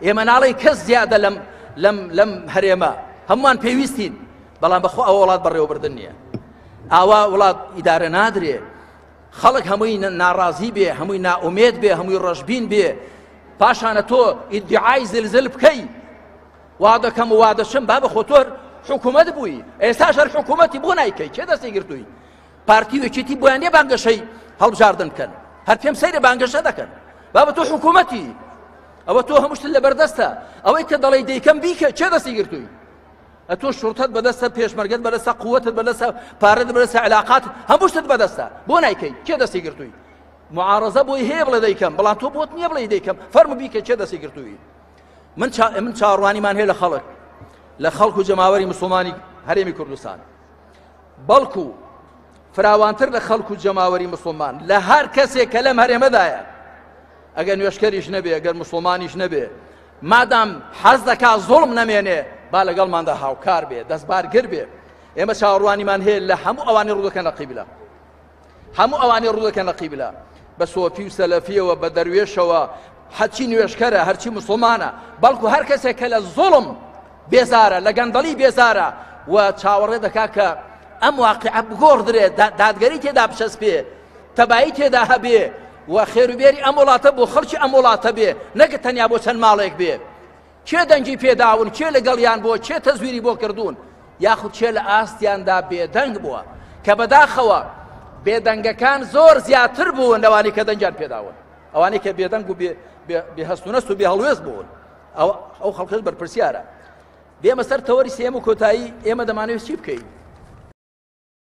ئێمە ناڵێین کەس زیادە لەم لەم لەم هەرێمە، هەمووان پێویستین، بەڵام بەخۆ ئەوە وڵات بەڕێوەبردن نییە. ئاوا وڵات ئیدارە نادرێ. خەڵک هەمووی ناڕازی بێ، هەمووی نائومێد بێ، هەمووی ڕەشبین بێ، پاشانە تۆ ئیدعای زلزل بکەی وا دەکەم و وا دەچم. بابە خۆ تۆ حکوومەت بووی، ئێستاش هەر حکوومەتی، بۆ نایکەی؟ کێ دەستی گرتووی؟ پارتی و یەکێتی بۆیان نییە بانگەشەی هەڵبژاردن بکەن، هەر پێم سەیرە بانگەشە دەکەن. بابە تۆ حکوومەتی، ئەوە تۆ هەموو شتت لەبەردەستە، ئەوەی کە دەڵێی دەیکەم بیکە، کێ دەستی گرتووی؟ ئەتۆ شوڕتەت بەدەستە، پێشمەرگەت بەدەستە، قووەتت بەدەستە، پارەت بەدەستە، علاقات هەموو شتت بەدەستە، بۆ نایکەی؟ کێ دەستی گرتووی؟ معارەزە بۆی هەیە بڵێ دەیکەم، بەڵام تۆ بۆت نییە بڵێ دەیکەم، فەرموو بیکە، کێ دەستی گرتووی؟ من چا... من چاوەڕوانیمان هەیە لە خەڵک، لە خەڵک و جەماوەری مسلمانی هەرێمی کوردستان، بەڵکو فراوانتر لە خەڵک و جەماوەری مسلمان، لە هەر کەسێک کە لەم هەرێمەدایە، ئەگەر نوێشکەریش نەبێ، ئەگەر مسلمانیش نەبێ، مادام حەز دەکا زوڵم نەمێنێ، با لەگەڵماندا هاوکار بێ، دەستبارگر بێ. ئێمە چاوەڕوانیمان هەیە لە هەموو ئەوانەی ڕوودەکەن لە قیبلە، هەموو ئەوانەی ڕوودەکەن لە قیبلە، بە سۆفی و سەلەفیەوە، بە دەروێشەوە، هەرچی نوێشکەرە، هەرچی مسلمانە، بەڵکو هەر کەسێک کە لە زوڵم بێزارە، لە گەندەڵی بێزارە و چاوەڕێ دەکا کە ئەم واقعە بگۆڕدرێ، دادگەری تێدا بچەسپێ، تەبایی تێدا هەبێ و خێروبێری ئەم وڵاتە بۆ خەڵکی ئەم وڵاتە بێ، نەکە تەنیا بۆ چەند ماڵێک بێ. کێ دەنگی پێداون، کێ لەگەڵیان بووە، کێ تەزویری بۆ کردوون، یاخود کێ لە ئاستیاندا بێدەنگ بووە، کە بەداخەوە بێدەنگەکان زۆر زیاتر بوون لەوانەی کە دەنگیان پێداون. ئەوانەی کە بێدەنگ و بێ هەست و نەست و بێ هەڵوێست بوون، ئەو خەڵکەش بەرپرسیارە. بێمە سەر تەوەری سێم و کۆتایی، ئێمە دەمانەوێت چی بکەین؟